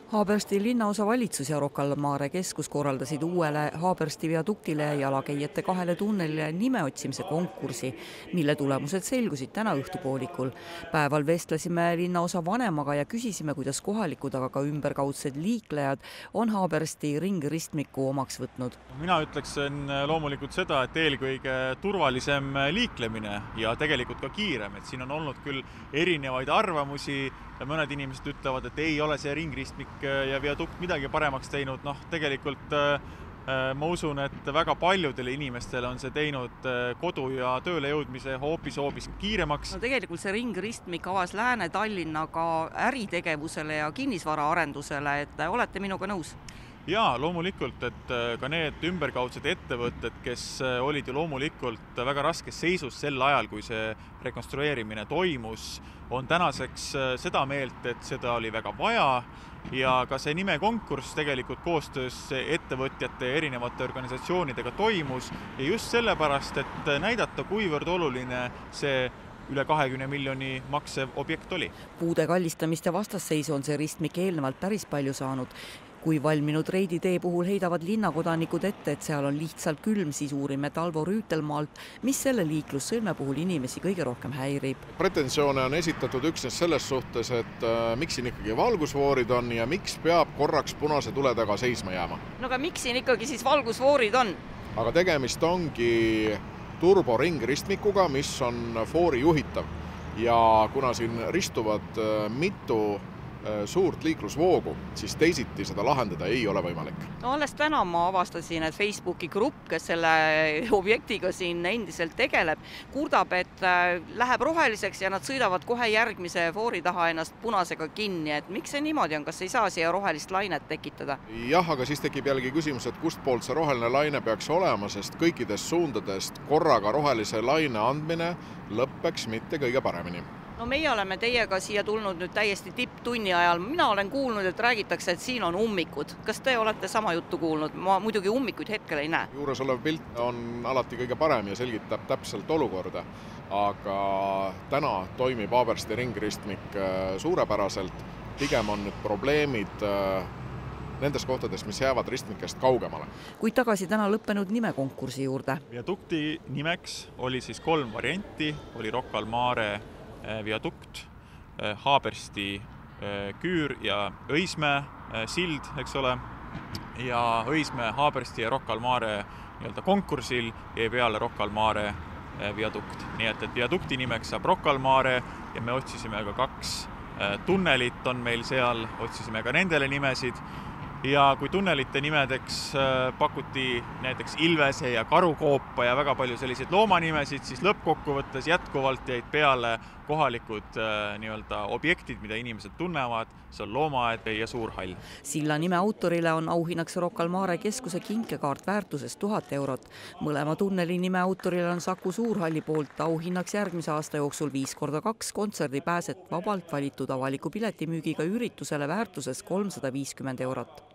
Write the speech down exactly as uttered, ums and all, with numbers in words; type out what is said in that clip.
Haabersti linnaosa valitsus ja Rocca al Mare keskus korraldasid uuele Haabersti viaduktile ja jalakäijate kahele tunnelile nime otsimise konkursi, mille tulemused selgusid täna õhtupoolikul. Päeval vestlesime linnaosa vanemaga ja küsisime, kuidas kohalikud, aga ka ümberkaudsed liiklejad on Haabersti ringristmiku omaks võtnud. Mina ütleksin loomulikult seda, et eelkõige turvalisem liiklemine ja tegelikult ka kiirem, et siin on olnud küll erinevaid arvamusi ja mõned inimesed ütlevad, et ei ole see ringristmik ja viadukt midagi paremaks teinud. Noh, tegelikult ma usun, et väga paljudele inimestele on see teinud kodu ja tööle jõudmise hoopis hoopis kiiremaks. No tegelikult see ringristmik avas Lääne-Tallinna ka äritegevusele ja kinnisvaraarendusele, et olete minuga nõus? Jaa, loomulikult, et ka need ümberkaudsed ettevõtted, kes olid ju loomulikult väga raskes seisus sel ajal, kui see rekonstrueerimine toimus, on tänaseks seda meelt, et seda oli väga vaja ja ka see nimekonkurss tegelikult koostöös ettevõtjate ja erinevate organisatsioonidega toimus ja just sellepärast, et näidata, kuivõrd oluline see üle kahekümne miljoni maksev objekt oli. Puude kallistamist ja vastasseisu on see ristmik eelnevalt päris palju saanud. Kui valminud reiditee puhul heidavad linnakodanikud ette, et seal on lihtsalt külm, siis uurime Talvo Rüütelmaalt, mis selle liiklussõlme puhul inimesi kõige rohkem häirib. Pretensioone on esitatud üksnes selles suhtes, et äh, miks siin ikkagi valgusvoorid on ja miks peab korraks punase tule taga seisma jääma. No aga miks siin ikkagi siis valgusvoorid on? Aga tegemist ongi turboringristmikuga, mis on foori juhitav ja kuna siin ristuvad äh, mitu suurt liiklusvoogu, siis teisiti seda lahendada ei ole võimalik. No alles täna ma avastasin, et Facebooki grupp, kes selle objektiga siin endiselt tegeleb, kurdab, et läheb roheliseks ja nad sõidavad kohe järgmise foori taha ennast punasega kinni. Et miks see niimoodi on? Kas ei saa siia rohelist lainet tekitada? Jah, aga siis tekib jällegi küsimus, et kust poolt see roheline laine peaks olema, sest kõikidest suundadest korraga rohelise laine andmine lõppeks mitte kõige paremini. No meie oleme teiega siia tulnud nüüd täiesti tipptunni ajal. Mina olen kuulnud, et räägitakse, et siin on ummikud. Kas te olete sama juttu kuulnud? Ma muidugi ummikuid hetkel ei näe. Juures olev pilt on alati kõige parem ja selgitab täpselt olukorda. Aga täna toimib Haabersti ringristmik suurepäraselt. Pigem on nüüd probleemid nendes kohtades, mis jäävad ristmikest kaugemale. Kuid tagasi täna lõppenud nimekonkursi juurde. Viadukti nimeks oli siis kolm varianti. Oli Rocca al Mare viadukt, Haabersti küür ja Õismäe sild, eks ole. Ja Õismäe, Haabersti ja Rocca al Mare nii-öelda konkursil jäi peale Rocca al Mare viadukt. Nii et, et viadukti nimeks saab Rocca al Mare ja me otsisime ka kaks tunnelit on meil seal, otsisime ka nendele nimesid. Ja kui tunnelite nimedeks pakuti näiteks Ilvese ja Karukoopa ja väga palju selliseid loomanimesid, siis lõppkokkuvõttes jätkuvalt jäid peale kohalikud nii-öelda objektid, mida inimesed tunnevad, see on loomaaed ja suur hall. Silla nime autorile on auhinnaks Rocca al Mare keskuse kinkekaart väärtuses tuhat eurot. Mõlema tunneli nime autorile on Saku Suurhalli poolt auhinnaks järgmise aasta jooksul viis korda kaks kontserdi pääset vabalt valitud avaliku piletimüügiga üritusele väärtuses kolmsada viiskümmend eurot.